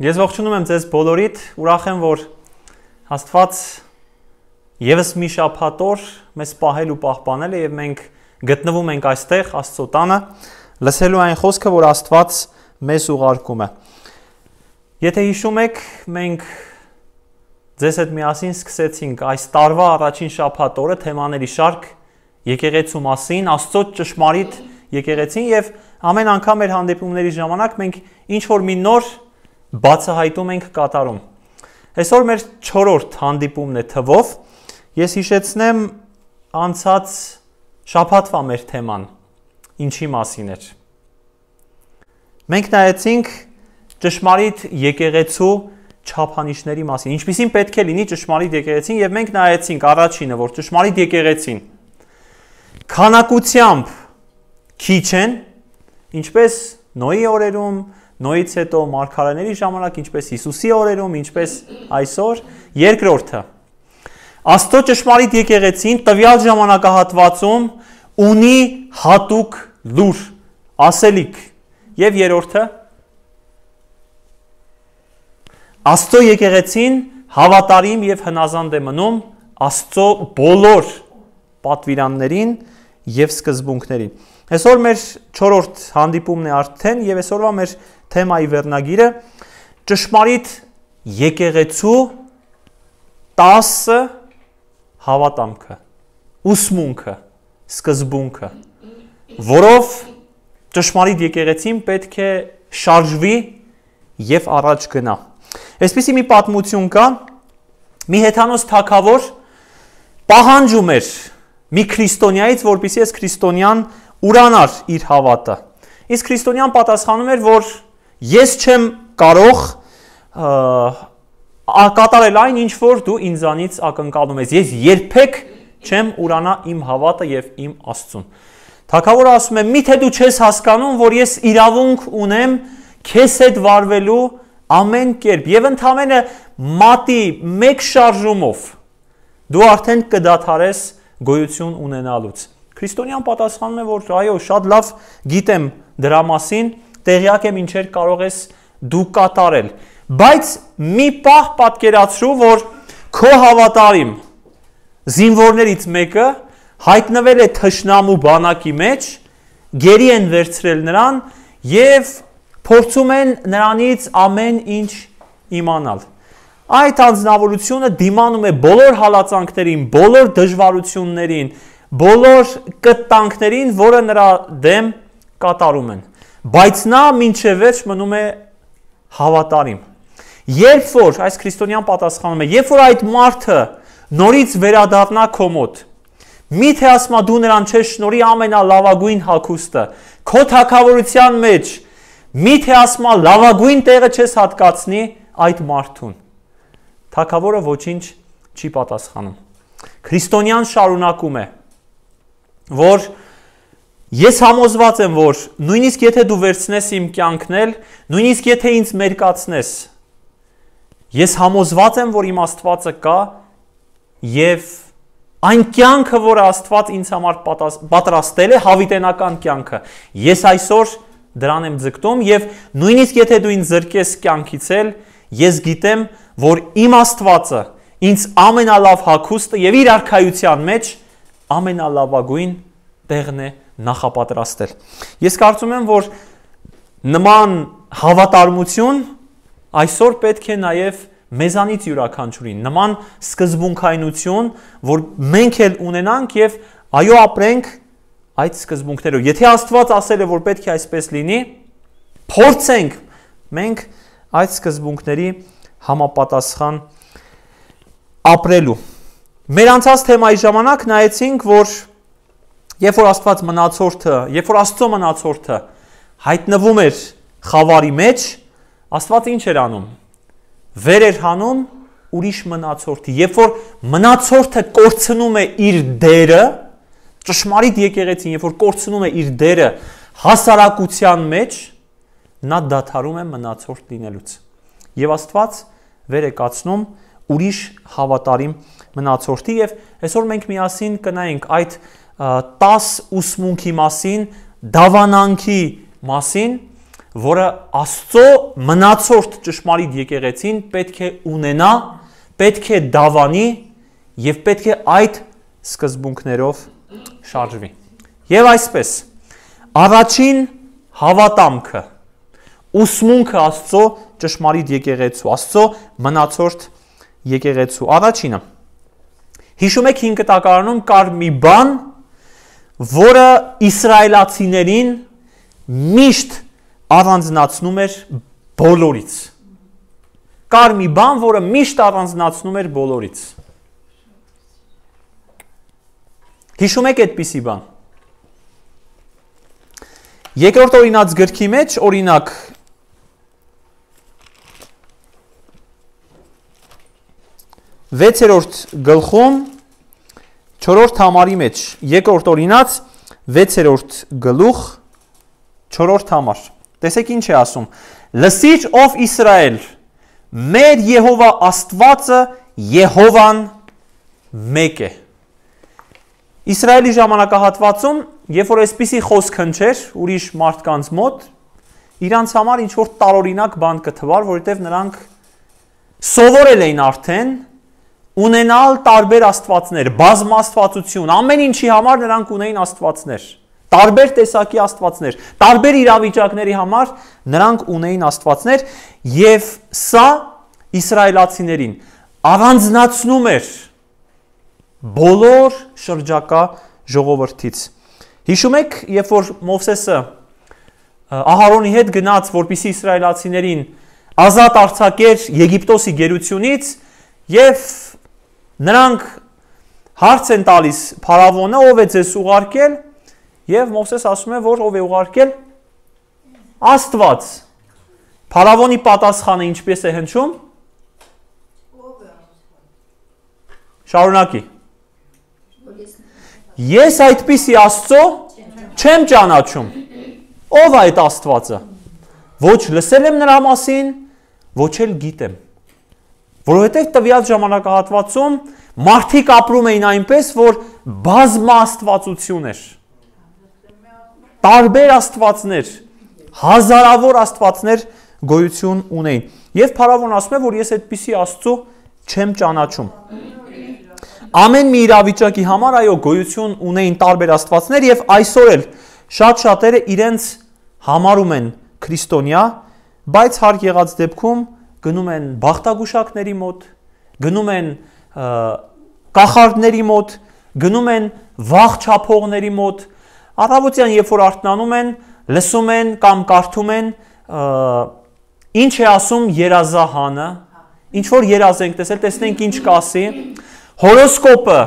Ես ողջունում եմ ձեզ բոլորիդ, ուրախ եմ, որ Աստված ևս մի շաբաթ օր մեզ պահել ու պահպանել է եւ մենք գտնվում ենք այստեղ Աստծո տանը, լսելու այն խոսքը, որ Աստված մեզ ուղարկում է։ Եթե հիշում եք, մենք ձեզ հետ միասին սկսեցինք այս տարվա առաջին շաբաթ օրը թեմաների շարք եկեղեցու մասին, Աստծո ճշմարիտ եկեղեցին եւ ամեն անգամ մեր հանդիպումների ժամանակ մենք ինչ որ մի նոր բացահայտում ենք կատարում։ Այսօր մեր 4-րդ հանդիպումն է թվով։ Ես հիշեցնեմ անցած շաբաթվա մեր թեման ինչի մասին էր։ Մենք նայեցինք ճշմարիտ եկեղեցու չափանիշների մասին, ինչպիսին պետք է լինի ճշմարիտ եկեղեցին, եւ մենք նայեցինք առաջինը, որ ճշմարիտ եկեղեցին քանակությամբ քիչ են, ինչպես Նոյի օրերում, Նոյից հետո մարգարեների ժամանակ, ինչպես Հիսուսի օրերում, ինչպես այսօր, երկրորդը։ Աստծո ճշմարիտ եկեղեցին տվյալ ժամանակահատվածում ունի հատուկ լուր, ասելիք, եւ երրորդը Աստծո եկեղեցին հավատարիմ եւ հնազանդ է մնում Աստծո բոլոր պատվիրաններին եւ սկզբունքներին։ Այսօր մեր 4-րդ հանդիպումն է արդեն եւ այսօրվա մեր թեմայի վերնագիրը ճշմարիտ եկեղեցու 10 հավատամքը, ուսմունքը, սկզբունքը, որով ճշմարիտ եկեղեցին պետք է շարժվի եւ առաջ գնա։ Այսպիսի մի պատմություն կա, մի հեթանոս թագավոր պահանջում էր մի քրիստոնյայից, որպեսզի այս քրիստոնյան ուրանար իր հավատը։ Իսկ քրիստոնյան պատասխանում էր, որ ես չեմ կարող կատարել այն, ինչ որ դու ինձանից ակնկալում ես։ Ես երբեք չեմ ուրանա իմ հավատը եւ իմ Աստծուն։ Թագավորը ասում է՝ միթե դու չես հասկանում, որ ես իրավունք ունեմ քեզ հետ վարվելու ամեն կերպ եւ ընդամենը մատի մեկ շարժումով դու արդեն կդադարես գոյություն ունենալուց։ Քրիստոնյան պատասխանում է, որ այո, շատ լավ գիտեմ դրա մասին, տեղյակ եմ ինչեր կարող ես դու կատարել, բայց մի պահ պատկերացրու, որ քո հավատարիմ զինվորներից մեկը հայտնվել է թշնամու բանակի մեջ, գերի են վերցրել նրան եւ փորձում են նրանից ամեն ինչ իմանալ։ Այդ անձնավորությունը դիմանում է բոլոր հալածանքներին, բոլոր դժվարություններին, բոլոր կտանքներին, որը նրա դեմ կատարում են։ Բայց նա մինչև վերջ մնում է հավատարիմ։ Երբ որ այս քրիստոնյան պատասխանում է, երբ որ այդ մարդը նորից վերադառնա քո մոտ, միթե ասма դու նրան չես շնորհի ամենալավագույն հագուստը, քո թագավորության մեջ միթե ասма լավագույն տեղը չես հատկացնի այդ մարդուն։ Թագավորը ոչինչ չի պատասխանում։ Քրիստոնյան շարունակում է, որ ես համոզված եմ, որ նույնիսկ եթե դու վերցնես իմ կյանքն էլ, նույնիսկ եթե ինձ մերկացնես, ես համոզված եմ, որ իմ Աստվածը կա եւ այն կյանքը, որը Աստված ինձ համար պատրաստել է, հավիտենական կյանքը, ես այսօր դրան եմ ձգտում եւ նույնիսկ եթե դու ինձ զրկես կյանքից էլ, ես գիտեմ, որ իմ Աստվածը ինձ ամենալավ հագուստը եւ իր արքայության մեջ ամենալավագույն տեղն է նախապատրաստել։ Ես կարծում եմ, որ նման հավատարմություն այսօր պետք է նաեւ մեզանից յուրաքանչյուրին, նման սկզբունքայնություն, որ մենք էլ ունենանք եւ այո ապրենք այդ սկզբունքներով։ Եթե Աստված ասել է, որ պետք է այսպես լինի, փորձենք մենք այդ սկզբունքների համապատասխան ապրելու։ Մեր անցած թեմայի ժամանակ նայեցինք, որ երբ որ Աստծո մնացորդը հայտնվում էր խավարի մեջ, Աստված ինչ էր անում։ Վեր էր հանում ուրիշ մնացորդի։ Երբ որ մնացորդը կորցնում է իր դերը, ճշմարիտ եկեղեցին, երբ որ կորցնում է իր դերը հասարակության մեջ, նա դադարում է մնացորդ լինելուց։ Եվ Աստված վեր է կացնում ուրիշ հավատարիմ մնացորդի եւ այսօր մենք միասին կնայենք այդ 10 ուսմունքի մասին, դավանանքի մասին, որը Աստծո մնացորդ ճշմարիտ եկեղեցին պետք է ունենա, պետք է դավանի եւ պետք է այդ սկզբունքներով շարժվի։ Եվ այսպես, առաջին հավատամքը, ուսմունքը Աստծո ճշմարիտ եկեղեցու, Աստծո մնացորդ եկեղեցու, առաջինը։ Հիշում եք 5 տակարանում կար մի բան, որը իսրայելացիներին միշտ առանձնացնում էր բոլորից։ Կար մի բան, որը միշտ առանձնացնում էր բոլորից։ Հիշում եք այդպիսի բան։ Երկրորդ օրինաց գրքի մեջ, օրինակ, 6-րդ գլխում 4-րդ համարի մեջ, երկրորդ օրինաց 6-րդ գլուխ 4-րդ համար։ Տեսեք ինչ է ասում. Լսիր ով Իսրայել, մեր Եհովա Աստվածը Եհովան մեկ է։ Իսրայելի ժամանակահատվածում, երբ որ այսպիսի խոսք հնչեր ուրիշ մարդկանց մոտ, իրանց համար ինչ որ տարօրինակ բան կթվար, որովհետև նրանք սովորել էին արդեն ունենալ տարբեր աստվածներ, բազմաստվածություն, ամեն ինչի համար նրանք ունեին աստվածներ, տարբեր տեսակի աստվածներ, տարբեր իրավիճակների համար նրանք ունեին աստվածներ, եւ սա իսրայելացիներին առանձնացնում էր բոլոր շրջակա ժողովրդից։ Հիշում եք, երբ որ Մովսեսը Ահարոնի հետ գնաց, որպեսզի իսրայելացիներին ազատ արձակեր Եգիպտոսի գերությունից, եւ նրանք հարց են տալիս Փարավոնը, ով է ձեզ ուղարկել, եւ Մովսես ասում է, որ ով է ուղարկել Աստված։ Փարավոնի պատասխանը ինչպես է հնչում։ Շարունակի։ Ես այդպիսի Աստծո չեմ ճանաչում։ Ով է այդ Աստվածը։ Ոչ լսել եմ նրա մասին, ոչ էլ գիտեմ։ Որովհետև տվյալ ժամանակահատվածում մարդիկ ապրում էին այնպես, որ բազմա աստվածություն էր։ Տարբեր աստվածներ, հազարավոր աստվածներ գոյություն ունեին։ Եվ Փարավոն ասում է, որ ես այդպիսի Աստծո չեմ ճանաչում։ Ամեն մի իրավիճակի համար այո գոյություն ունեին տարբեր աստվածներ եւ այսօր էլ շատ շատերը իրենց համարում են քրիստոնյա, բայց հարկ եղած դեպքում գնում են բախտագուշակների մոտ, գնում են կախարդների մոտ, գնում են վաղ չափողների մոտ, առավոտյան երբ որ արթնանում են, լսում են կամ կարդում են ինչ է ասում երազահանը, ինչ որ երազ ենք տեսել, տեսնենք ինչ կասի, հորոսկոպը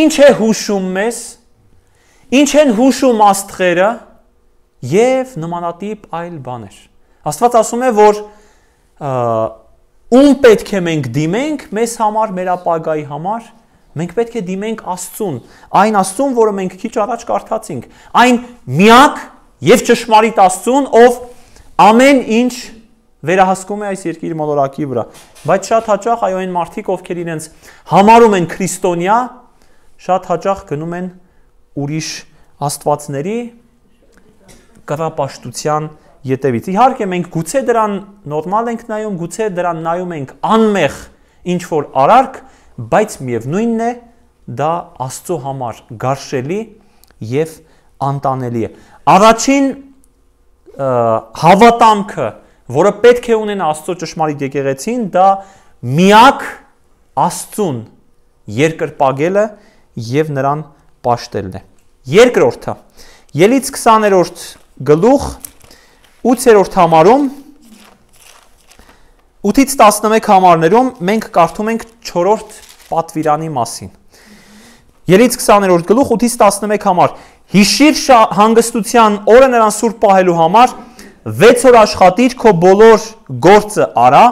ինչ է հուշում մեզ, ինչ են հուշում աստղերը եւ նմանատիպ այլ բաներ։ Աստված ասում է, որ ում պետք է մենք դիմենք մեզ համար, մեր ապագայի համար, մենք պետք է դիմենք Աստծուն, այն Աստծուն, որը մենք քիչ առաջ կարդացինք, այն միակ եւ ճշմարիտ Աստծուն, ով ամեն ինչ վերահսկում է այս երկրի մոլորակի վրա։ Բայց շատ հաճախ այո այն մարդիկ, ովքեր իրենց համարում են քրիստոնյա, շատ հաճախ գնում են ուրիշ աստվածների կռապաշտության ետևից։ Իհարկե մենք գուցե դրան նորմալ ենք նայում, գուցե դրան նայում ենք անմեղ ինչ որ արարք, բայց միևնույնն է դա Աստծո համար գարշելի եւ անտանելի է։ Առաջին հավատամքը, որը պետք է ունենա Աստծո ճշմարիտ եկեղեցին, դա միակ Աստծուն երկրպագելը եւ նրան պաշտելն է։ Երկրորդը, Ելից 20-րդ գլուխ 8-րդ համարում 8-ից 11 համարներում մենք կարդում ենք 4-րդ պատվիրանի մասին։ Ելից 20-րդ գլուխ 8-ից 11 համար. Հիշիր հանգստության օրը նրան սուրբ պահելու համար 6 օր աշխատիր, քո բոլոր գործը արա,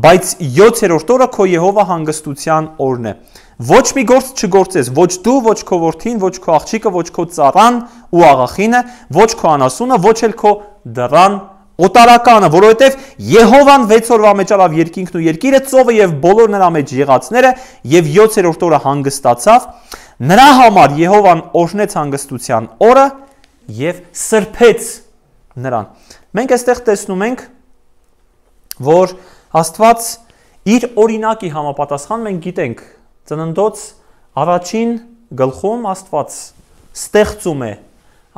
բայց 7-րդ օրը քո Եհովա հանգստության օրն է։ Ոչ մի գործ չգործես, ոչ դու, ոչ քո որդին, ոչ քո աղջիկը, ոչ քո ծառան ու աղախինը, ոչ քո անասունը, ոչ էլ քո դռան օտարականը, որովհետև Եհովան 6 օրվա մեջ արավ երկինքն ու երկիրը, ծովը եւ բոլոր նրա մեջ եղածները, եւ 7-րդ օրը հանգստացավ։ Նրա համար Եհովան օրհնեց հանգստության օրը եւ սրբեց նրան։ Մենք այստեղ տեսնում ենք, որ Աստված իր օրինակի համապատասխան մենք գիտենք, ծննդոց առաջին գլխում Աստված ստեղծում է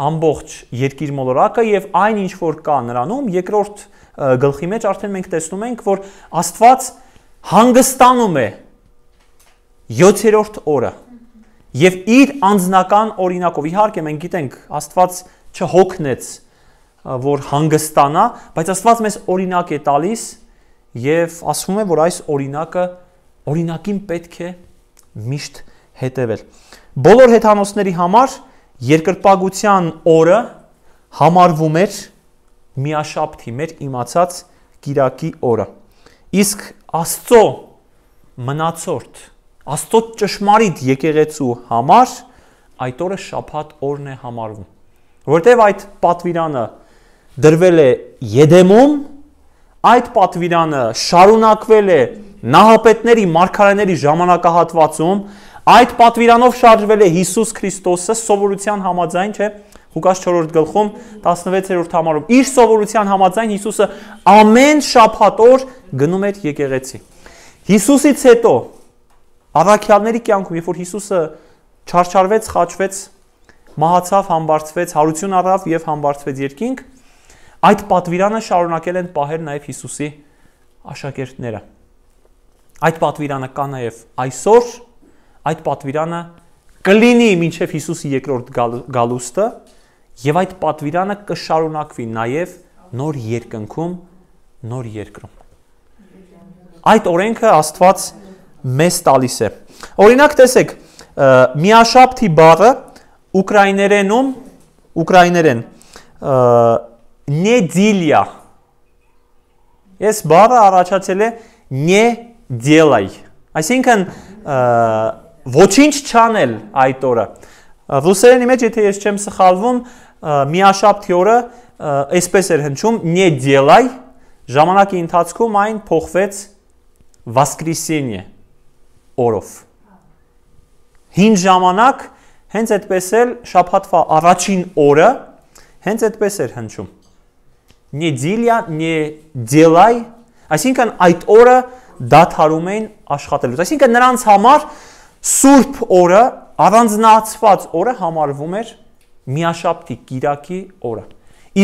ամբողջ երկիր մոլորակը եւ այն ինչ որ կա նրանում, երկրորդ գլխի մեջ արդեն մենք տեսնում ենք, որ Աստված հանգստանում է 7-րդ օրը եւ իր անձնական օրինակով, իհարկե մենք գիտենք, Աստված չհոգնեց, որ հանգստանա, բայց Աստված մեզ օրինակ է տալիս եւ ասվում է, որ այս օրինակին պետք է միշտ հետևել։ Բոլոր հեթանոսների համար երկրպագության օրը համարվում էր միաշաբթի, մեր իմացած կիրակի օրը։ Իսկ Աստծո մնացորդ, Աստծո ճշմարիտ եկեղեցու համար այդ օրը շաբաթ օրն է համարվում։ Որտեւ այդ պատվիրանը դրվել է Եդեմում, այդ պատվիրանը շարունակվել է նահապետների, մարգարեների ժամանակահատվածում, այդ պատվիրանով շարժվել է Հիսուս Քրիստոսը սովորության համաձայն, չէ՞, Ղուկաս 4-րդ գլխում 16-րդ համարում իր սովորության համաձայն Հիսուսը ամեն շաբաթ օր գնում էր եկեղեցի։ Հիսուսից հետո առաքյալների կյանքում, երբ որ Հիսուսը չարչարվեց, խաչվեց, մահացավ, համբարձվեց, հարություն առավ եւ համբարձվեց երկինք, այդ պատվիրանը շարունակել են պահել նաեւ Հիսուսի աշակերտները։ Այդ պատվիրանը կա նաեւ այսօր, այդ պատվիրանը կլինի մինչև Հիսուսի երկրորդ գալուստը եւ այդ պատվիրանը կշարունակվի նաեւ նոր երկնքում, նոր երկրում։ Այդ օրենքը Աստված մեզ տալիս է։ Օրինակ տեսեք, միաշաբթի բառը ուկրաիներեն նեդիլյա։ Այս բառը առաջացել է նեդելայ։ Այսինքն ոչինչ չանել այդ օրը։ Ռուսերենի մեջ, եթե ես չեմ սխալվում, միաշաբթի օրը այսպես էր հնչում նեդելայ, ժամանակի ընթացքում այն փոխվեց воскресенье օրով։ Հին ժամանակ հենց այդպես էլ շաբաթվա առաջին օրը հենց այդպես էր հնչում։ Նեդիլյա, նեդելայ, այսինքն այդ օրը դադարում էին աշխատելուց։ Այսինքն նրանց համար սուրբ օրը, առանձնացված օրը համարվում էր միաշաբթի կիրակի օրը։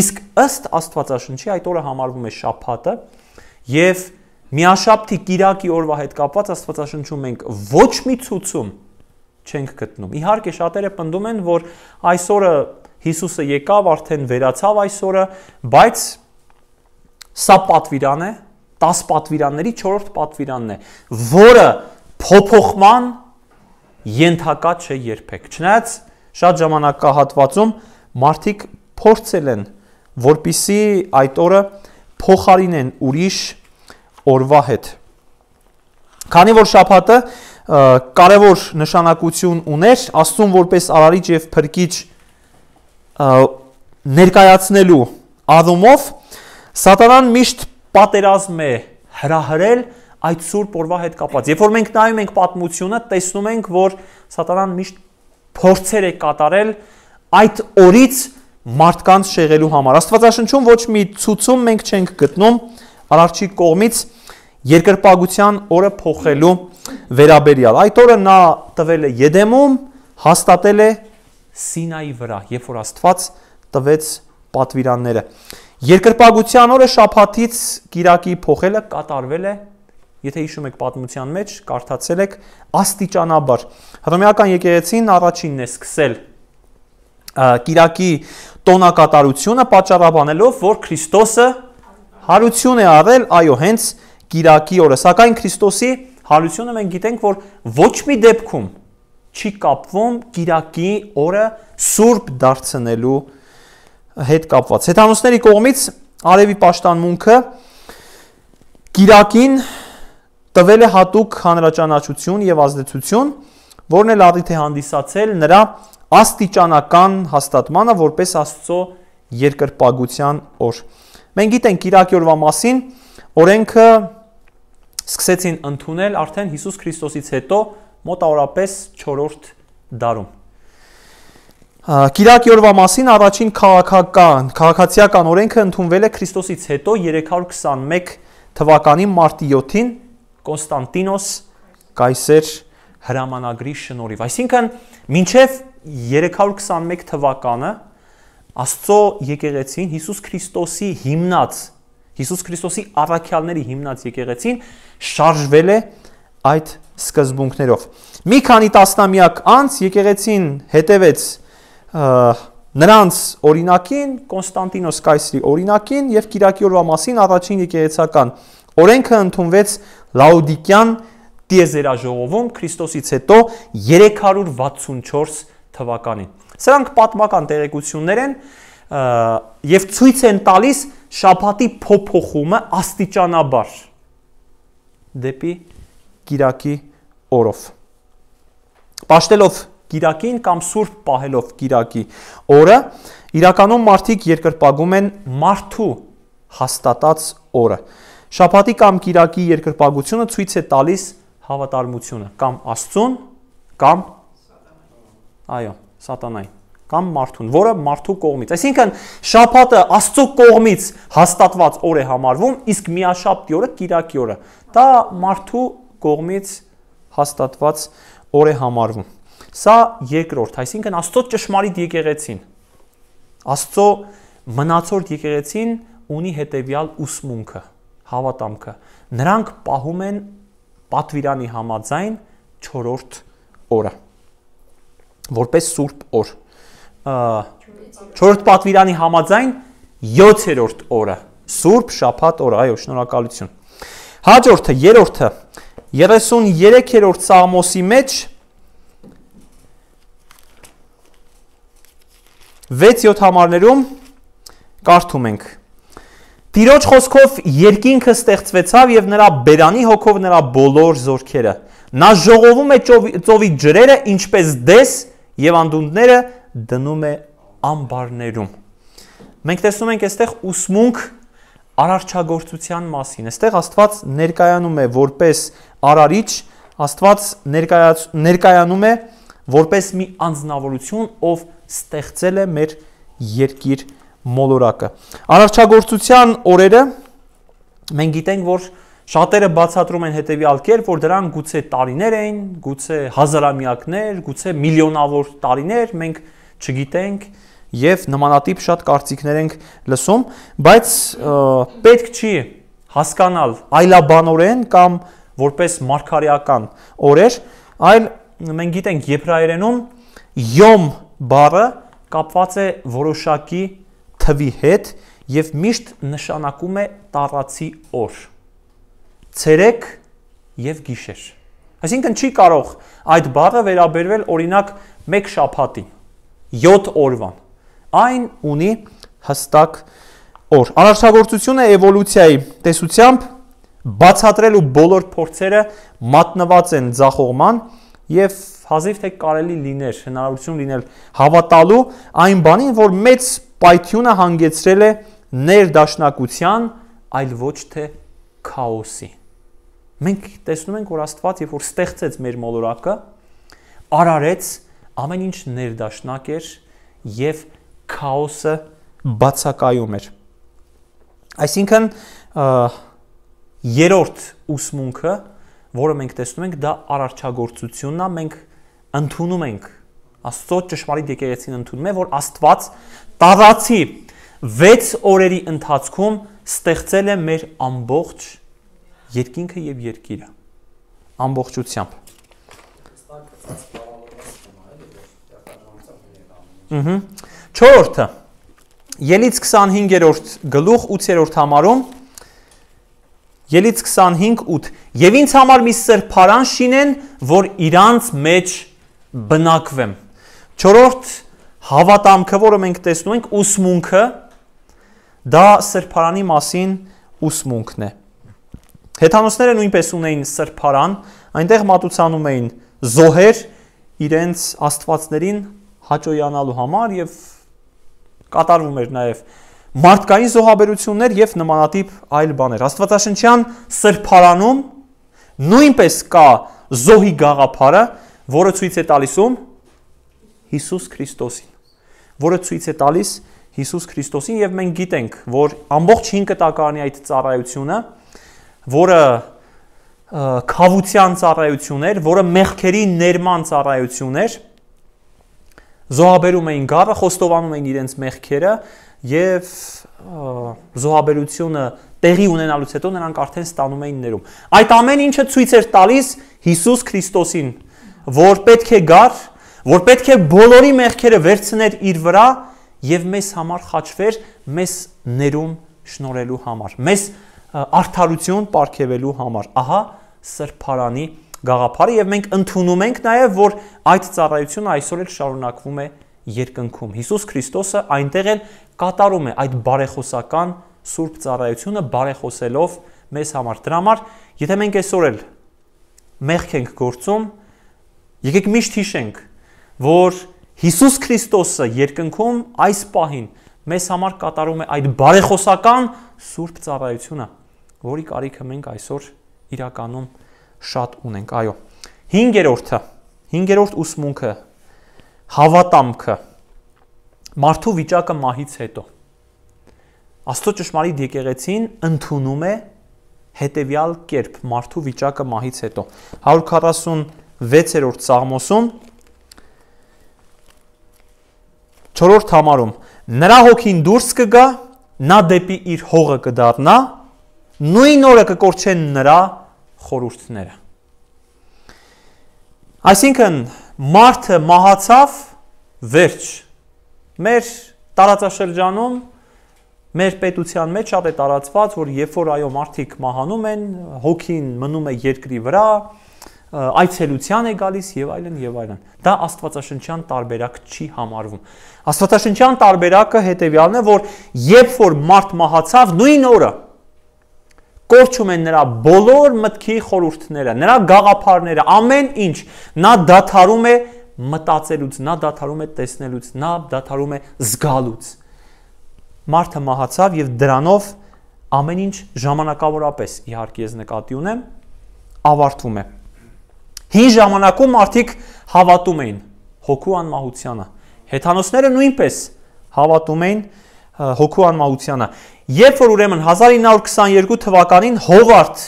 Իսկ ըստ Աստվածաշնչի այդ օրը համարվում է շաբաթը եւ միաշաբթի կիրակի օրվա հետ կապված Աստվածաշնչում մենք ոչ մի ցուցում չենք գտնում։ Իհարկե շատերը պնդում են, որ այս օրը Հիսուսը եկավ, արդեն վերացավ այս օրը, բայց սա պատվիրան է, 10 պատվիրանների 4-րդ պատվիրանն է, որը փոփոխման ենթակա չէ երբեք։ Չնայած շատ ժամանակահատվածում մարդիկ փորձել են, որպիսի այդ օրը փոխարինեն ուրիշ օրվա հետ։ Քանի որ շաբաթը կարևոր նշանակություն ուներ, Աստծուն որպես արարիչ եւ փրկիչ ներկայացնելու առումով, Սատանան միշտ պատերազմ է հրահրել այդ սուրբ օրվա հետ կապված։ Երբ որ մենք նայում ենք պատմությունը, տեսնում ենք, որ Սատանան միշտ փորձեր է կատարել այդ օրից մարդկանց շեղելու համար։ Աստվածաշնչում ոչ մի ցուցում մենք չենք գտնում արարչի կողմից երկրպագության օրը փոխելու վերաբերյալ։ Այդ օրը նա տվել է Եդեմում, հաստատել է Սինայի վրա, երբ որ Աստված տվեց պատվիրանները։ Երկրպագության օրը շաբաթից կիրակի փոխելը կատարվել է, եթե հիշում եք պատմության մեջ, կարդացել եք, աստիճանաբար։ Հռոմեական եկեղեցին առաջինն է սկսել կիրակի տոնակատարությունը պատճառաբանելով, որ Քրիստոսը հարություն է արել, այո, հենց կիրակի օրը, սակայն Քրիստոսի հարությունը մենք գիտենք, որ ոչ մի դեպքում չի կապվում կիրակի օրը սուրբ դարձնելու հետ կապված։ Հեթանոսների կողմից արևի պաշտամունքը կիրակին տվել է հատուկ հանրաճանաչություն եւ ազդեցություն, որն էլ առիթ է հանդիսացել նրա աստիճանական հաստատմանը որպես Աստծո երկրպագության օր։ Մենք գիտենք կիրակի օրվա մասին, օրենքը սկսեցին ընդունել արդեն Հիսուս Քրիստոսից հետո մոտավորապես 4-րդ դարում։ Կիրակի օրվա մասին առաջին քաղաքացիական օրենքը ընդունվել է Քրիստոսից հետո 321 թվականի մարտի 7-ին Կոնստանտինոս կայսեր հրամանագրի շնորհիվ։ Այսինքն մինչև 321 թվականը Աստծո եկեղեցին Հիսուս Քրիստոսի հիմնած, Հիսուս Քրիստոսի առաքյալների հիմնած եկեղեցին շարժվել է այդ սկզբունքներով։ Մի քանի տասնամյակ անց եկեղեցին հետևեց նրանց օրինակին, Կոնստանտինոս կայսրի օրինակին եւ կիրակի օրվա մասին առաջին եկեղեցական օրենքը ընդունվեց Լաուդիկյան տիեզերաժողովում Քրիստոսից հետո 364 թվականին։ Սրանք պատմական տեղեկություններ են եւ ցույց են տալիս շաբաթի փոփոխումը աստիճանաբար դեպի կիրակի օրով։ Պաշտելով Կիրակին կամ սուրբ պահելով Կիրակի օրը, իրականում մարդիկ երկրպագում են մարդու հաստատած օրը։ Շաբաթի կամ Կիրակի երկրպագությունը ցույց է տալիս հավատարմությունը կամ Աստծուն, կամ սատանային, կամ մարդուն, որը մարդու կողմից։ Այսինքն շաբաթը Աստծո կողմից հաստատված օր է համարվում, իսկ միաշաբթի օրը Կիրակի օրը դա մարդու կողմից հաստատված օր է համարվում։ Սա երկրորդ, այսինքն Աստծո ճշմարիտ եկեղեցին, Աստծո մնացորդ եկեղեցին ունի հետևյալ ուսմունքը, հավատամքը։ Նրանք պահում են պատվիրանի համաձայն 4-րդ օրը, որպես սուրբ օր։ 4-րդ պատվիրանի համաձայն 7-րդ օրը, սուրբ շաբաթ օրը, այո, շնորհակալություն։ Հաջորդը, երրորդը, 33-րդ Սաղմոսի մեջ 6-7 համարներում կարդում ենք. Տիրոջ խոսքով երկինքը ստեղծվեցավ եւ նրա բերանի հոգով նրա բոլոր զորքերը։ Նա ժողովում է ծովի ջրերը, ինչպես դես, եւ անդունդները դնում է ամբարներում։ Մենք տեսնում ենք այստեղ ուսմունք արարչագործության մասին։ Այստեղ Աստված ներկայանում է որպես արարիչ, Աստված ներկայանում է որպես մի անձնավորություն, ով ստեղծել է մեր երկիր մոլորակը։ Արարչագործության օրերը մենք գիտենք, որ շատերը բացատրում են հետևյալ կերպ, որ դրանք գուցե տարիներ էին, գուցե հազարամյակներ, գուցե միլիոնավոր տարիներ, մենք չգիտենք եւ նմանատիպ շատ կարծիքներ ենք լսում, բայց պետք չի հասկանալ այլաբանորեն կամ որպես մարգարեական օրեր, այլ մենք գիտենք եբրայերենում յոմ բառը կապված է որոշակի թվի հետ եւ միշտ նշանակում է տարածի օր, ցերեկ եւ գիշեր։ Այսինքն չի կարող այդ բառը վերաբերվել օրինակ մեկ շաբաթին, 7 օրվան։ Այն ունի հստակ օր։ Արարչագործությունը էվոլյուցիայի տեսությամբ բացատրելու բոլոր փորձերը մատնված են ձախողման եւ հազիվ թե կարելի լիներ, հնարավորություն լինել հավատալու այն բանին, որ մեծ պայթյունը հանգեցրել է ներդաշնակության, այլ ոչ թե քաոսի։ Մենք տեսնում ենք, որ Աստված, երբ որ ստեղծեց մեր մոլորակը, արարեց, ամեն ինչ ներդաշնակ էր եւ քաոսը բացակայում էր։ Այսինքն երրորդ ուսմունքը, որը մենք տեսնում ենք, դա արարչագործությունն է, մենք ընդունում ենք, Աստծո ճշմարիտ եկեղեցին ընդունում է, որ Աստված տարածի 6 օրերի ընթացքում ստեղծել է մեր ամբողջ երկինքը եւ երկիրը ամբողջությամբ։ Չորրորդը Ելից 25-րդ գլուխ 8-րդ համարում Ելից 25:8 Եվ ինձ համար մի սրբարան շինեն, որ իրանց մեջ բնակվեմ։ Չորրորդ հավատամքը, որը մենք տեսնում ենք, ուսմունքը, դա սրբարանի մասին ուսմունքն է։ Հեթանոսները նույնպես ունեին սրբարան, այնտեղ մատուցանում էին զոհեր իրենց աստվածներին հաճոյանալու համար եւ կատարվում էր նաեւ մարդկային զոհաբերություններ եւ նմանատիպ այլ բաներ։ Աստվածաշնչյան սրբարանում նույնպես կա զոհի գաղափարը, որը ցույց է տալիս Հիսուս Քրիստոսին։ որը ցույց է տալիս Հիսուս Քրիստոսին, եւ մենք գիտենք, որ ամբողջ 5 տակարանի այդ ծառայությունը, որը քավության ծառայություն էր, որը մեղքերի ներման ծառայություն էր, զոհաբերում էին գառը, խոստովանում էին իրենց մեղքերը եւ զոհաբերությունը տեղի ունենալուց հետո նրանք արդեն ստանում էին ներում։ Այդ ամեն ինչը ցույց էր տալիս Հիսուս Քրիստոսին, որ պետք է գար, որ պետք է բոլորի մեղքերը վերցներ իր վրա եւ մեզ համար խաչվեր, մեզ ներում շնորհելու համար, մեզ արդարություն պարգևելու համար։ Ահա սրբարանի գաղափարը, եւ մենք ընդունում ենք նաեւ, որ այդ ծառայությունը այսօր էլ շարունակվում է երկնքում։ Հիսուս Քրիստոսը այնտեղ էլ կատարում է այդ բարեխոսական սուրբ ծառայությունը, բարեխոսելով մեզ համար։ Դրա համար, եթե մենք այսօր էլ մեղք ենք գործում, եկեք միշտ հիշենք, որ Հիսուս Քրիստոսը երկնքում այս պահին մեզ համար կատարում է այդ բարեխոսական սուրբ ծառայությունը, որի կարիքը մենք այսօր իրականում շատ ունենք։ Այո, 5-րդ ուսմունքը, հավատամքը, մարդու վիճակը մահից հետո։ Աստծո ճշմարիտ եկեղեցին ընդունում է հետևյալ կերպ մարդու վիճակը մահից հետո։ 146-րդ Սաղմոսում 4-րդ համարում նրա հոգին դուրս կգա, նա դեպի իր հողը կդառնա, նույն օրը կկորչեն նրա խորհուրդները։ Այսինքն մարդը մահացավ, վերջ։ Մեր տարածաշրջանում, մեր պետության մեջ շատ է տարածված, որ երբ որ այո մարդիկ մահանում են, հոգին մնում է երկրի վրա, այցելության է գալիս եւ այլն եւ այլն։ Դա աստվածաշնչյան տարբերակ չի համարվում։ Աստվածաշնչյան տարբերակը հետեւյալն է, որ երբ որ մարդ մահացավ, նույն օրը կորչում են նրա բոլոր մտքի խորհուրդները, նրա գաղափարները, ամեն ինչ, նա դադարում է մտածելուց, նա դադարում է տեսնելուց, նա դադարում է զգալուց։ Մարդը մահացավ եւ դրանով ամեն ինչ ժամանակավորապես, իհարկե ես նկատի ունեմ, ավարտվում է։ Հին ժամանակում մարդիկ հավատում էին հոգու անմահությանը, հեթանոսները նույնպես հավատում էին հոգու անմահությանը։ Երբ որ ուրեմն 1922 թվականին Հովարդ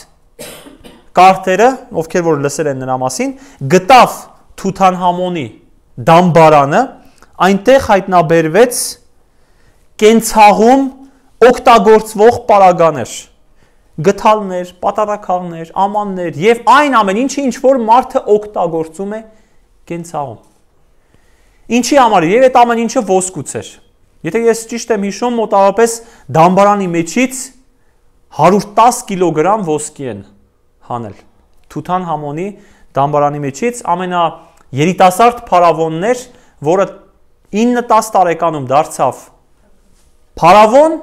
Կարտերը, ովքեր որ լսել են նրա մասին, գտավ Թութանհամոնի դամբարանը, այնտեղ հայտնաբերվեց կենցաղում օգտագործվող պարագաներ, գթալներ, պատարակաղներ, ամաններ եւ այն ամեն ինչը, ինչ որ մարդը օգտագործում է կենցաղում։ Ինչի համար եւ այդ ամեն ինչը ոսկուց էր։ Եթե ես ճիշտ եմ հիշում, մոտավորապես դամբարանի մեջից 110 կիլոգրամ ոսկի են հանել։ Թութանհամոնի դամբարանի մեջից ամենաերիտասարդ փարավոնն էր, որը 9-10 տարեկանում դարձավ փարավոն,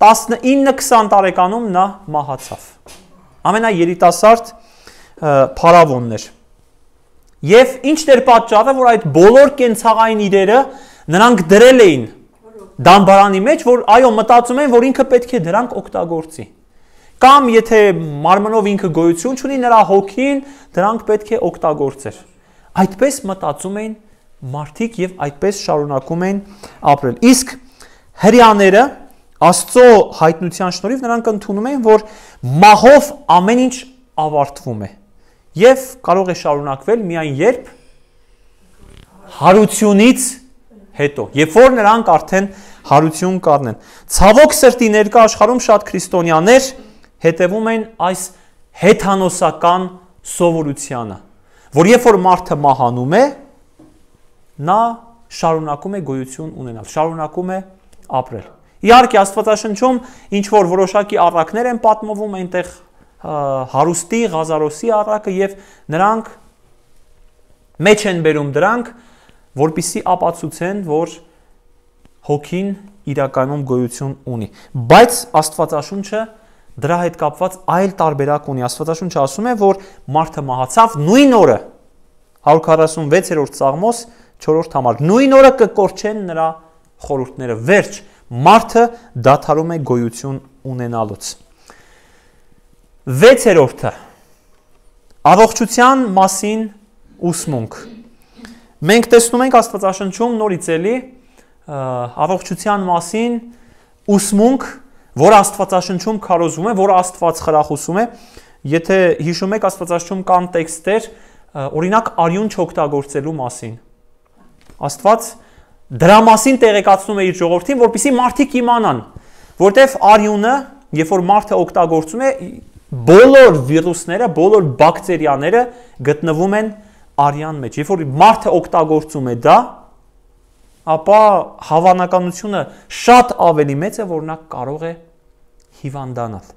19-20 տարեկանում նա մահացավ։ Ամենաերիտասարդ փարավոնն էր։ Եվ ինչն էր պատճառը, որ այդ բոլոր կենցաղային իրերը նրանք դրել էին դամբարանի մեջ, որ այո մտածում են, որ ինքը պետք է դրանք օգտագործի։ Կամ եթե մարմնով ինքը գոյություն ունի, նրա հոգին դրանք պետք է օգտագործեր։ Այդպես մտածում էին մարդիկ եւ այդպես շարունակում էին ապրել։ Իսկ հрьяաները Աստծո հայտնության շնորհիվ նրանք ընդունում են, որ մահով ամեն ինչ ավարտվում է եւ կարող է շարունակվել միայն երբ հարությունից հետո, երբ որ նրանք արդեն հարություն կառնեն։ Ցավոք սրտի ներկա աշխարհում շատ քրիստոնյաներ հետևում են այս հեթանոսական սովորությանը, որ երբ որ մարդը մահանում է, նա շարունակում է գոյություն ունենալ, շարունակում է ապրել։ Իհարկե Աստվածաշնչում ինչ որ որոշակի առակներ են պատմվում այնտեղ հարուստի, Ղազարոսի առակը եւ նրանք մեջ են բերում դրանք, որպիսի ապացուցեն, որ հոգին իրականում գոյություն ունի։ Բայց Աստվածաշունչը դրա հետ կապված այլ տարբերակ ունի։ Աստվածաշունչը ասում է, որ մարդը մահացավ նույն օրը 146-րդ Սաղմոս 4-րդ համար։ Նույն օրը կկորչեն նրա խորհուրդները։ Վերջ, մարդը դադարում է գոյություն ունենալուց։ 6-րդը առողջության մասին ուսմունք։ Մենք տեսնում ենք Աստվածաշնչում նորից էլի առողջության մասին ուսմունք, որ Աստվածաշնչում քարոզվում է, որ Աստված խրախուսում է, եթե հիշում եք, Աստվածաշնչում կան տեքստեր, օրինակ արյուն չօգտագործելու մասին։ Աստված դրա մասին տեղեկացնում է իր ժողովրդին, որպեսզի մարդիկ իմանան, որտեվ արյունը, երբ որ մարդը օգտագործում է, բոլոր վիրուսները, բոլոր բակտերիաները գտնվում են արյան մեջ։ Երբ որ մարդը օգտագործում է դա, ապա հավանականությունը շատ ավելի մեծ է, որ նա կարող է հիվանդանալ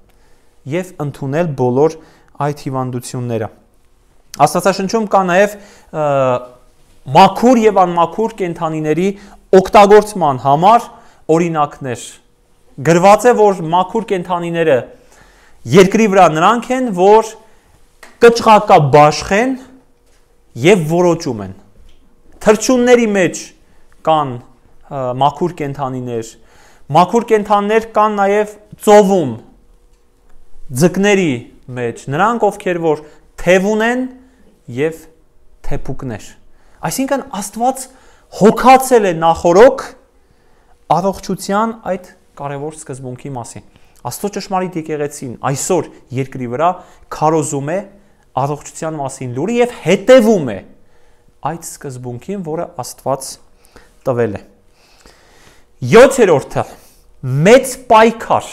եւ ընդունել բոլոր այդ հիվանդությունները։ Աստվածաշնչում կա նաեւ մաքուր եւ անմաքուր կենդանիների օգտագործման համար օրինակներ։ Գրված է, որ մաքուր կենդանիները երկրի վրա նրանք են, որ կճղակաբաշխ են եւ որոճում են։ Թռչունների մեջ կան մաքուր կենդանիներ, մաքուր կենդանիներ կան նաև ծովում, ձկների մեջ, նրանք ովքեր որ թև ունեն եւ թեփուկներ։ Այսինքն Աստված հոգացել է նախորոք առողջության այդ կարևոր սկզբունքի մասին։ Աստծո ճշմարիտ եկեղեցին այսօր երկրի վրա քարոզում է առողջության մասին լուրը եւ հետևում է այդ սկզբունքին, որը Աստված տվել է։ 7-րդը մեծ պայքար։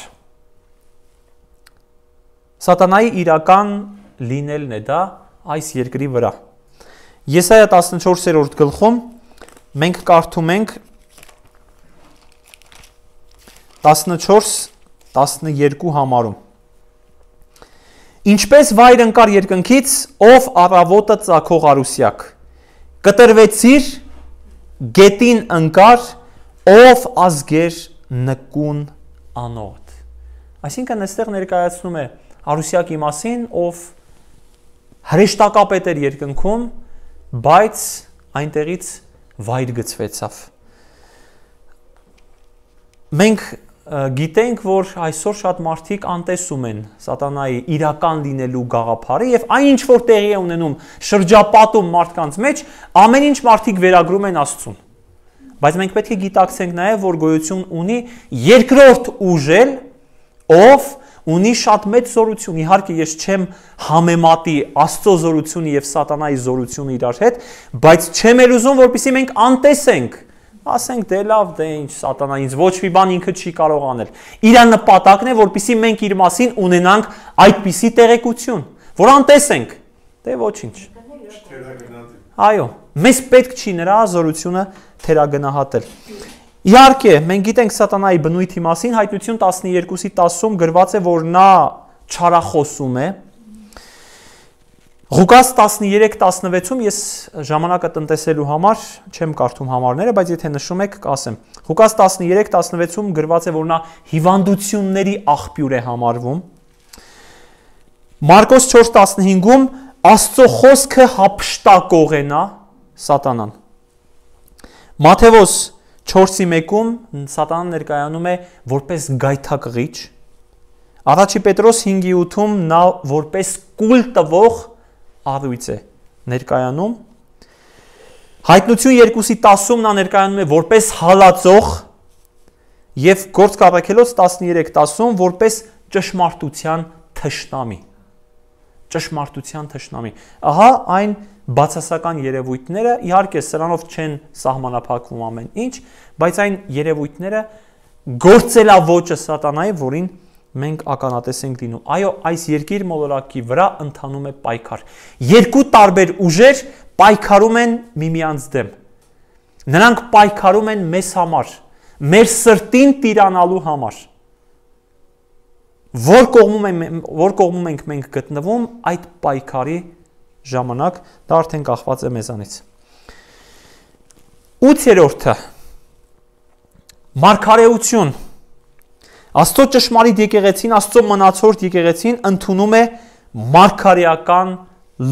Սատանայի իրական լինելն է դա այս երկրի վրա։ Եսայա 14-րդ գլխում մենք կարդում ենք 14-12 համարում։ Ինչպես վայր ընկար երկնքից, ով առավոտը ծագող արուսյակ, կտրվեցիր, գետին ընկար, ով ազգեր նկուն անոտ։ Այսինքն այստեղ ներկայացնում է արուսյակի մասին, ով հրեշտակապետ էր երկնքում, բայց այնտեղից վայր գցվեցավ։ Մենք գիտենք, որ այսօր շատ մարդիկ անտեսում են սատանայի իրական լինելու գաղափարը եւ այն ինչ որ տեղի է ունենում շրջապատում մարդկանց մեջ, ամեն ինչ մարդիկ վերագրում են Աստծուն։ Բայց մենք պետք է գիտակցենք նաեւ, որ գոյություն ունի երկրորդ ուժել, ով ունի շատ մեծ զորություն։ Իհարկե ես չեմ համեմատի Աստծո զորությունը եւ սատանայի զորությունը իրար հետ, բայց չեմ էլ ուզում, որպեսզի մենք անտեսենք, ասենք դե լավ, դե ինչ սատանա ինձ ոչ մի բան ինքը չի կարող անել։ Իր նպատակն է, որպեսզի մենք իր մասին ունենանք այդպիսի տեղեկություն, որ անտեսենք, դե ոչինչ։ Այո, մեզ պետք չի նրա զորությունը թերագնահատել։ Իհարկե, մենք գիտենք սատանայի բնույթի մասին, Հայտնություն 12:10-ում գրված է, որ նա չարախոսում է։ Ղուկաս 13:16-ում ես ժամանակը տնտեսելու համար չեմ կարդում համարները, բայց եթե նշում եք, կասեմ։ Ղուկաս 13:16-ում գրված է, որ նա հիվանդությունների աղբյուր է համարվում։ Մարկոս 4:15-ում Աստծո խոսքը հափշտակող է նա, սատանան։ Մատթեոս 4:1-ում սատանան ներկայանում է որպես գայթակղիչ։ Առաջի Պետրոս 5:8-ում նա որպես կուլ տվող առույց է ներկայանում։ Հայտնություն 2:10-ում նա ներկայանում է որպես հալածող եւ Գործք առաքելոց 13:10-ում որպես ճշմարտության թշնամի։ Ճշմարտության թշնամի։ Ահա այն բացասական երևույթները, իհարկե սրանով չեն սահմանափակվում ամեն ինչ, բայց այն երևույթները գործելավոճը սատանայի, որին մենք ականատես ենք լինում։ Այո, այս երկիր մոլորակի վրա ընթանում է պայքար։ Երկու տարբեր ուժեր պայքարում են միմյանց դեմ։ Նրանք պայքարում են մեզ համար, մեր սրտին տիրանալու համար։ Որ կողմում ենք մենք գտնվում այդ պայքարի ժամանակ, դա արդեն կախված է մեզանից։ 8-րդը մարգարեություն։ Աստծո ճշմարիտ եկեղեցին, Աստծո մնացորդ եկեղեցին ընդունում է մարգարեական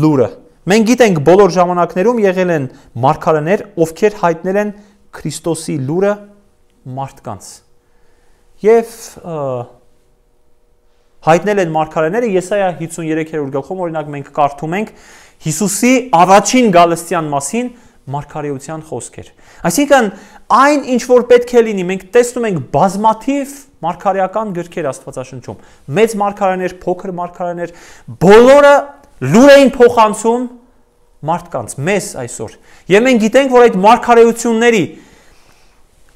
լուրը։ Մենք գիտենք բոլոր ժամանակներում եղել են մարգարեներ, ովքեր հայտնել են Քրիստոսի լուրը մարդկանց։ Եվ հայտնել են մարգարեները Եսայա 53-րդ գլխում օրինակ մենք կարդում ենք Հիսուսի առաջին գալստյան մասին, մարգարեության խոսքեր։ Այսինքն այն ինչ որ պետք է լինի, մենք տեսնում ենք բազմաթիվ մարգարեական գրքեր Աստվածաշնչում, մեծ մարգարեներ, փոքր մարգարեներ, բոլորը լուր էին փոխանցում մարդկանց, մեզ այսօր։ Եվ մենք գիտենք, որ այդ մարգարեությունների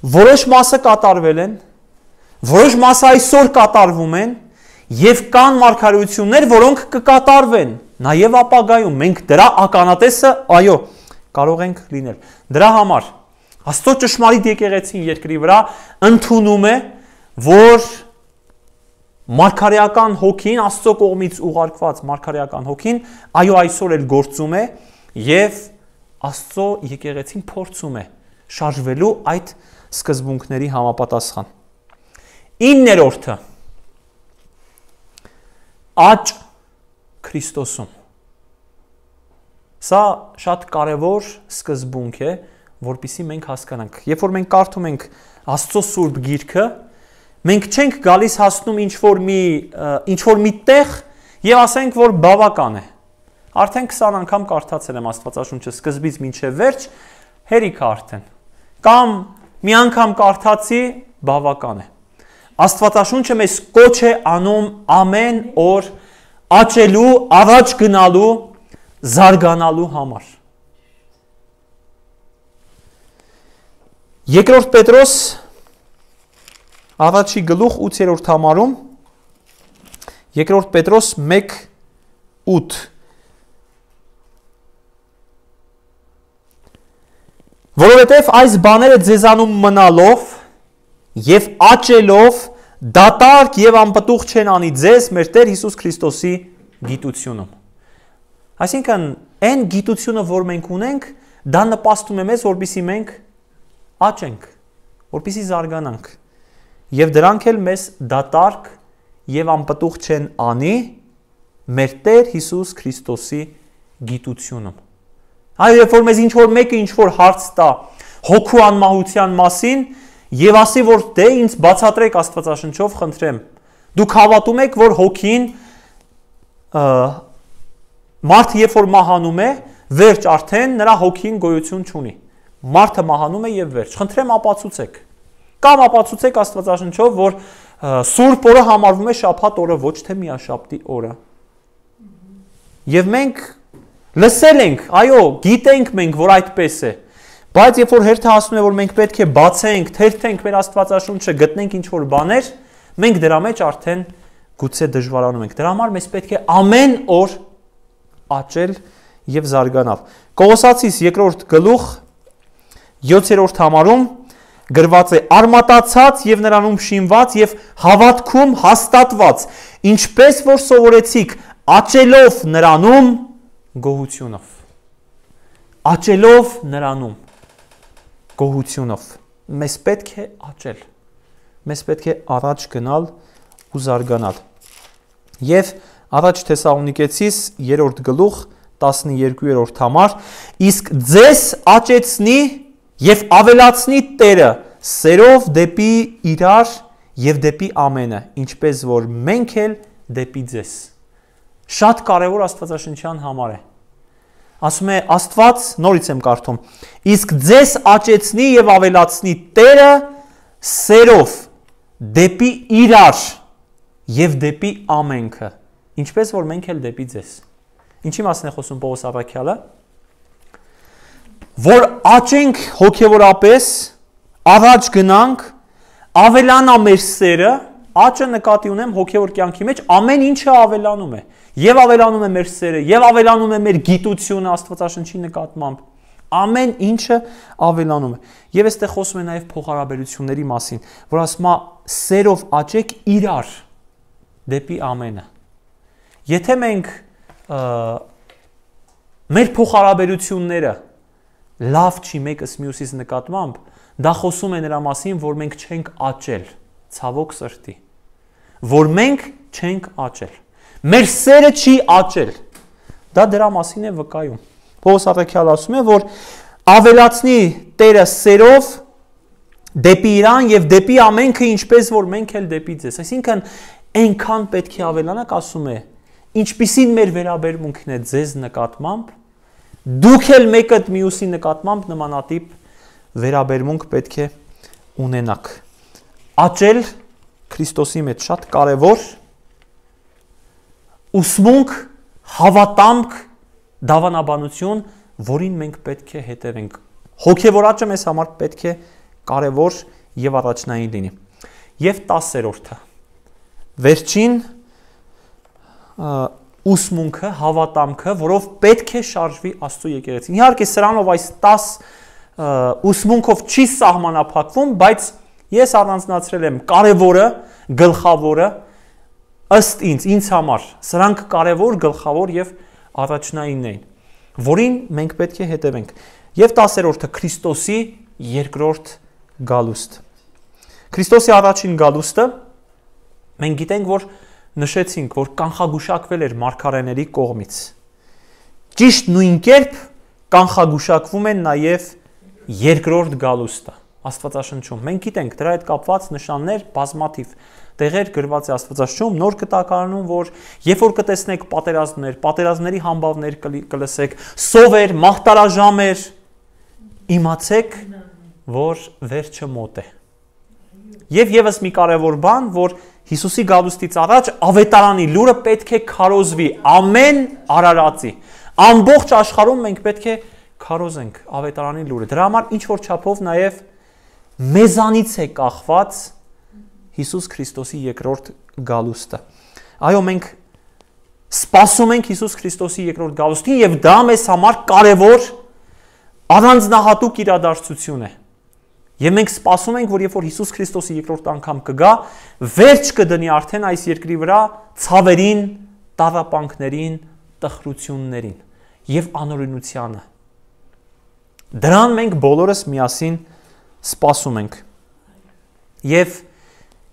որոշ մասը կատարվել են, որոշ մասը այսօր կատարվում են, եւ կան մարգարեություններ, որոնք կկատարվեն նաեւ ապագայում։ Մենք դրա ականատեսը, այո, կարող ենք լինել։ Դրա համար Աստծո ճշմարիտ եկեղեցին երկրի վրա ընդունում է, որ մարգարեական հոգին, Աստծո կողմից ուղարկված մարգարեական հոգին, այո, այսօր էլ գործում է եւ Աստծո եկեղեցին փորձում է շարժվելու այդ սկզբունքների համապատասխան։ 9-րդը աճ Քրիստոսում։ Սա շատ կարևոր սկզբունք է, որպեսզի մենք հասկանանք։ Երբ որ մենք կարդում ենք Աստծո Սուրբ Գիրքը, մենք չենք գալիս հասնում ինչ որ մի տեղ եւ ասենք, որ բավական է։ Արդեն 20 անգամ կարդացել եմ Աստվածաշունչը սկզբից մինչև վերջ, հերիք արդեն։ Կամ մի անգամ կարդացի, բավական է։ Աստվածաշունչը մեզ կոչ է անում ամեն օր աճելու, առաջ գնալու, զարգանալու համար։ Երկրորդ Պետրոս առաջի գլուխ 8-րդ համարում, երկրորդ Պետրոս 1:8 Որովհետև այս բաները ձեզանում մնալով եւ աճելով դատարկ եւ անպտուղ չեն անի ձեզ մեր Տեր Հիսուս Քրիստոսի գիտությունում։ Այսինքն, այն գիտությունը, որ մենք ունենք, դա նպաստում է մեզ, որպեսզի մենք աճենք, որպեսզի զարգանանք։ Եվ դրանք էլ մեզ դատարկ եւ անպտուղ չեն անի մեր Տեր Հիսուս Քրիստոսի գիտությունում։ Այո, երբ որ մեզ ինչ որ մեկը ինչ որ հարց տա հոգու անմահության մասին եւ ասի, որ դե ինձ բացատրեք Աստվածաշնչով, խնդրեմ։ Դուք հավատում եք, որ հոգին մարդը երբ որ մահանում է, վերջ արդեն նրա հոգին գոյություն չունի։ Մարդը մահանում է եւ վերջ։ Խնդրեմ ապացուցեք։ Կամ ապացուցեք Աստվածաշնչով, որ Սուրբ օրը համարվում է շաբաթ օրը, ոչ թե միաշաբթի օրը։ Եվ մենք լսել ենք, այո, գիտենք մենք, որ այդպես է։ Բայց երբ որ հերթը ասում է, որ մենք պետք է բացենք, թերթենք մեր Աստվածաշունչը, գտնենք ինչ-որ բաներ, մենք դրա մեջ արդեն գուցե դժվարանում ենք։ Դրա համար մեզ պետք է ամեն օր աճել եւ զարգանալ։ Կողոսացիս 2-րդ գլուխ 7-րդ համարում գրված է. արմատացած եւ նրանում շինված եւ հավատքում հաստատված, ինչպես որ սովորեցիք, աճելով նրանում գոհությունով։ Աճելով նրանում գոհությունով։ Մեզ պետք է աճել։ Մեզ պետք է առաջ գնալ ու զարգանալ։ Եվ առաջ Թեսաղոնիկեցիս 3-րդ գլուխ 12-րդ համար, իսկ ձեզ աճեցնի եւ ավելացնի Տերը սերով դեպի իրար եւ դեպի ամենը, ինչպես որ մենք էլ դեպի ձեզ։ Շատ կարևոր Աստվածաշնչյան համար է։ Ասում է Աստված, նորից եմ կարդում, իսկ ձեզ աճեցնի եւ ավելացնի Տերը սերով դեպի իրար եւ դեպի ամենքը, ինչպես որ մենք էլ դեպի ձեզ։ Ինչի մասին է խոսում Պողոս առաքյալը? Որ աճենք հոգևորապես, առաջ գնանք, ավելանա մեր սերը, աճը նկատի ունեմ հոգևոր կյանքի մեջ, ամեն ինչը ավելանում է։ Եվ ավելանում է մեր սերը, եւ ավելանում է մեր գիտությունը Աստվածաշնչի նկատմամբ։ Ամեն ինչը ավելանում է։ Եվ այստեղ խոսում է նաեւ փոխհարաբերությունների մասին, որ ասում է սերով աճեք իրար դեպի ամենը։ Եթե մենք մեր փոխհարաբերությունները լավ չի մեկս մյուսից նկատմամբ, դա խոսում է նրա մասին, որ մենք չենք աճել, ցավոք սրտի, որ մենք չենք աճել, մեր սերը չի աճել, դա դրա մասին է վկայում։ Պողոս առաքյալը ասում է, որ ավելացնի Տերը սերով դեպի իրան եւ դեպի ամենքը, ինչպես որ մենք էլ դեպի ձեզ։ Այսինքն այնքան պետք է ավելանանք, ասում է, ինչպիսին մեր վերաբերմունքն է ձեզ նկատմամբ, դուք էլ մեկը մյուսի նկատմամբ նմանատիպ վերաբերմունք պետք է ունենաք։ Աճել Քրիստոսի մեջ շատ կարևոր, ուսմունք, հավատամք, դավանաբանություն, որին մենք պետք է հետևենք։ Հոգևոր աճը մեզ համար պետք է կարևոր եւ առաջնային լինի։ Եվ 10-րդը։ Վերջին ուսմունքը, հավատամքը, որով պետք է շարժվի Աստծո եկեղեցին։ Իհարկե սրանով այս 10 ուսմունքով չի սահմանափակվում, բայց ես առանձնացրել եմ կարևորը, գլխավորը, ըստ ինձ համար սրանք կարևոր, գլխավոր եւ առաջնայինն են, որին մենք պետք է հետևենք։ Եվ 10-րդը Քրիստոսի երկրորդ գալուստ։ Քրիստոսի առաջին գալուստը մենք գիտենք, որ նշեցինք, որ կանխագուշակվել էր մարգարեների կողմից։ Ճիշտ նույն կերպ կանխագուշակվում են նաև երկրորդ գալուստը Աստվածաշնչում։ Մենք գիտենք դրա հետ կապված նշաններ բազմաթիվ տեղեր գրված է Աստվածաշնչում, Նոր Կտակարանում, որ երբ որ կտեսնեք պատերազմներ, պատերազմների համբավներ կլսեք, սովեր, մահտարաժամեր, իմացեք, որ վերջը մոտ է։ Եվ եւս մի կարևոր բան, որ Հիսուսի գալուստից առաջ ավետարանի լուրը պետք է քարոզվի ամեն արարածի։ Ամբողջ աշխարհում մենք պետք է քարոզենք ավետարանի լուրը։ Դրա համար ինչ որ չափով նաև մեզանից է կախված Հիսուս Քրիստոսի երկրորդ գալուստը։ Այո, մենք սպասում ենք Հիսուս Քրիստոսի երկրորդ գալուստին եւ դա մեզ համար կարևոր առանձնահատուկ իրադարձություն է։ Եվ մենք սպասում ենք, որ երբ որ Հիսուս Քրիստոսի երկրորդ անգամ կգա, վերջ կդնի արդեն այս երկրի վրա ցավերին, տառապանքներին, տխրություններին եւ անօրենությանը։ Դրան մենք բոլորս միասին սպասում ենք։ Եվ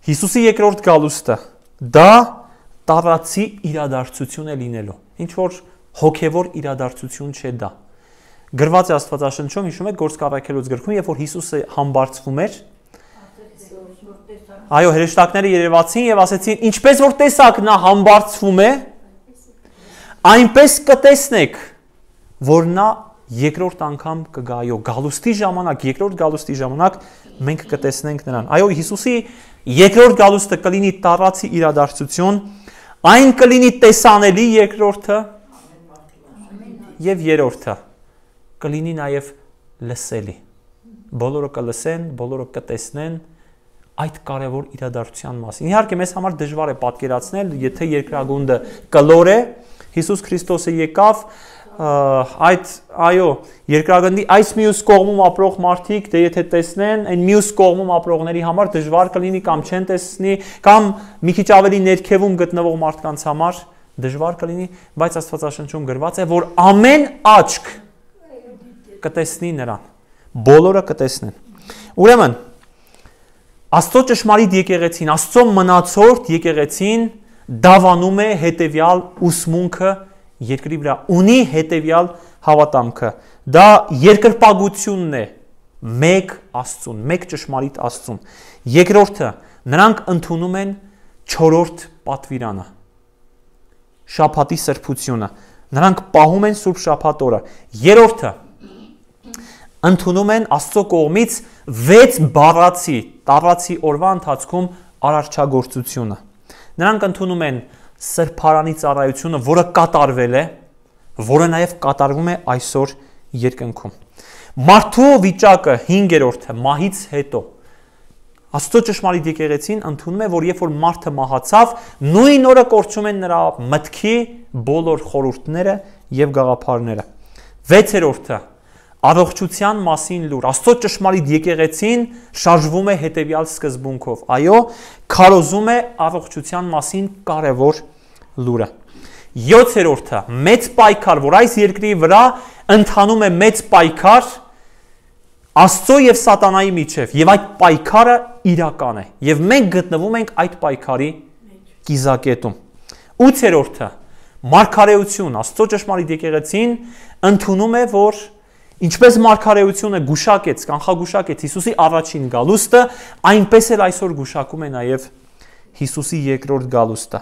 Հիսուսի երկրորդ գալուստը դա տարածի իրադարձություն է լինելու։ Ինչ որ հոգևոր իրադարձություն չէ դա։ Գրված է Աստվածաշնչում, հիշում եք Գործք առաքելոց գրքում, երբ որ Հիսուսը համբարձվում էր, այո, հրեշտակները երևացին եւ ասեցին, ինչպես որ տեսակ նա համբարձվում է, այնպես կտեսնեք, որ նա երկրորդ անգամ կգա, այո, գալուստի ժամանակ, երկրորդ գալուստի ժամանակ մենք կտեսնենք նրան։ Այո, Հիսուսի երկրորդ գալուստը կլինի տարածի իրադարձություն, այն կլինի տեսանելի երկրորդը եւ երրորդը կլինի նաև լսելի։ Բոլորը կլսեն, բոլորը կտեսնեն այդ կարևոր իրադարձության մասին։ Իհարկե մեզ համար դժվար է պատկերացնել, եթե երկրագունդը կլոր է, Հիսուս Քրիստոսը եկավ, այո, երկրագնդի այս մյուս կողմում ապրող մարդիկ, դե եթե տեսնեն, այն մյուս կողմում ապրողների համար դժվար կլինի կամ չեն տեսնի, կամ մի քիչ ավելի ներքևում գտնվող մարդկանց համար դժվար կլինի, բայց Աստվածաշնչում գրված է, որ ամեն աչք կտեսնի նրան, բոլորը կտեսնեն։ Ուրեմն, Աստծո ճշմարիտ եկեղեցին, Աստծո մնացորդ եկեղեցին դավանում է հետևյալ ուսմունքը երկրի վրա, ունի հետևյալ հավատամքը։ Դա երկրպագությունն է մեկ Աստծուն, մեկ ճշմարիտ Աստծուն։ Երկրորդը, նրանք ընդունում են չորրորդ պատվիրանը, շաբաթի սրբությունը։ Նրանք պահում են Սուրբ Շաբաթ օրը։ Երրորդը, ընդունում են Աստծո կողմից 6 բառացի տարածի օրվա ընթացքում արարչագործությունը։ Նրանք ընդունում են սրբարանի ծառայությունը, որը կատարվել է, որը նաև կատարվում է այսօր երկնքում։ Մարդու վիճակը 5-րդը մահից հետո Աստծո ճշմարիտ եկեղեցին ընդունում է, որ երբ որ մարդը մահացավ, նույն օրը կորչում են նրա մտքի բոլոր խորհուրդները եւ գաղափարները։ 6-րդը առողջության մասին լուր։ Աստծո ճշմարիտ եկեղեցին շարժվում է հետևյալ սկզբունքով։ Այո, քարոզում է առողջության մասին կարևոր լուրը։ 7-րդը մեծ պայքար, որ այս երկրի վրա ընթանում է մեծ պայքար Աստծո եւ սատանայի միջև, եւ այդ պայքարը իրական է, եւ մենք գտնվում ենք այդ պայքարի կիզակետում։ 8-րդը մարգարեություն, Աստծո ճշմարիտ եկեղեցին ընդունում է, որ ինչպես մարգարեությունը գուշակեց, կանխագուշակեց Հիսուսի առաջին գալուստը, այնպես էլ այսօր գուշակում է նաեւ Հիսուսի երկրորդ գալուստը։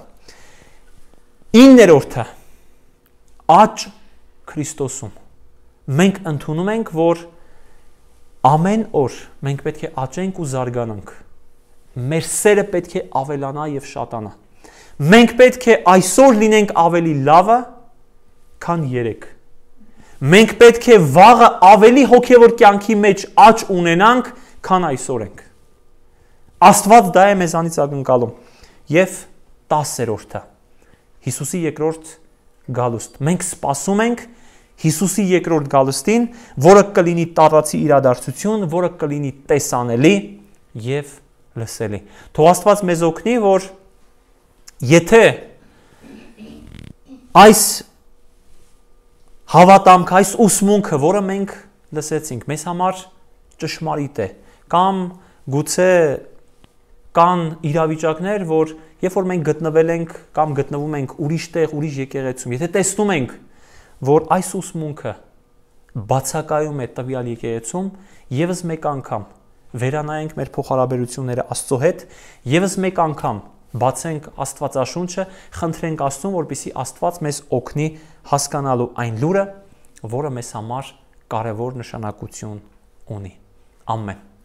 9-րդը աճ Քրիստոսում, մենք ընդունում ենք, որ ամեն օր մենք պետք է աճենք ու զարգանանք։ Մեր սերը պետք է ավելանա եւ շատանա։ Մենք պետք է այսօր լինենք ավելի լավը, քան երեկ։ Մենք պետք է վաղը ավելի հոգևոր կյանքի մեջ աճ ունենանք, քան այսօր ենք։ Աստված դա է մեզանից ակնկալում։ Եվ 10-րդը Հիսուսի երկրորդ գալուստ։ Մենք սպասում ենք Հիսուսի երկրորդ գալստին, որը կլինի տարածի իրադարձություն, որը կլինի տեսանելի եւ լսելի։ Թող Աստված մեզ օգնի, որ եթե այս հավատամք, այս ուսմունքը, որը մենք լսեցինք, մեզ համար ճշմարիտ է, կամ գուցե կան իրավիճակներ, որ երբ որ մենք գտնվել ենք կամ գտնվում ենք ուրիշ տեղ, ուրիշ եկեղեցում, եթե տեսնում ենք, որ այս ուսմունքը բացակայում է տվյալ եկեղեցում, եւս մեկ անգամ վերանայենք մեր փոխհարաբերությունները Աստծո հետ, եւս մեկ անգամ բացենք Աստվածաշունչը, խնդրենք Աստծուն, որպեսզի Աստված մեզ օգնի հասկանալու այն լուրը, որը մեզ համար կարևոր նշանակություն ունի։ Ամեն։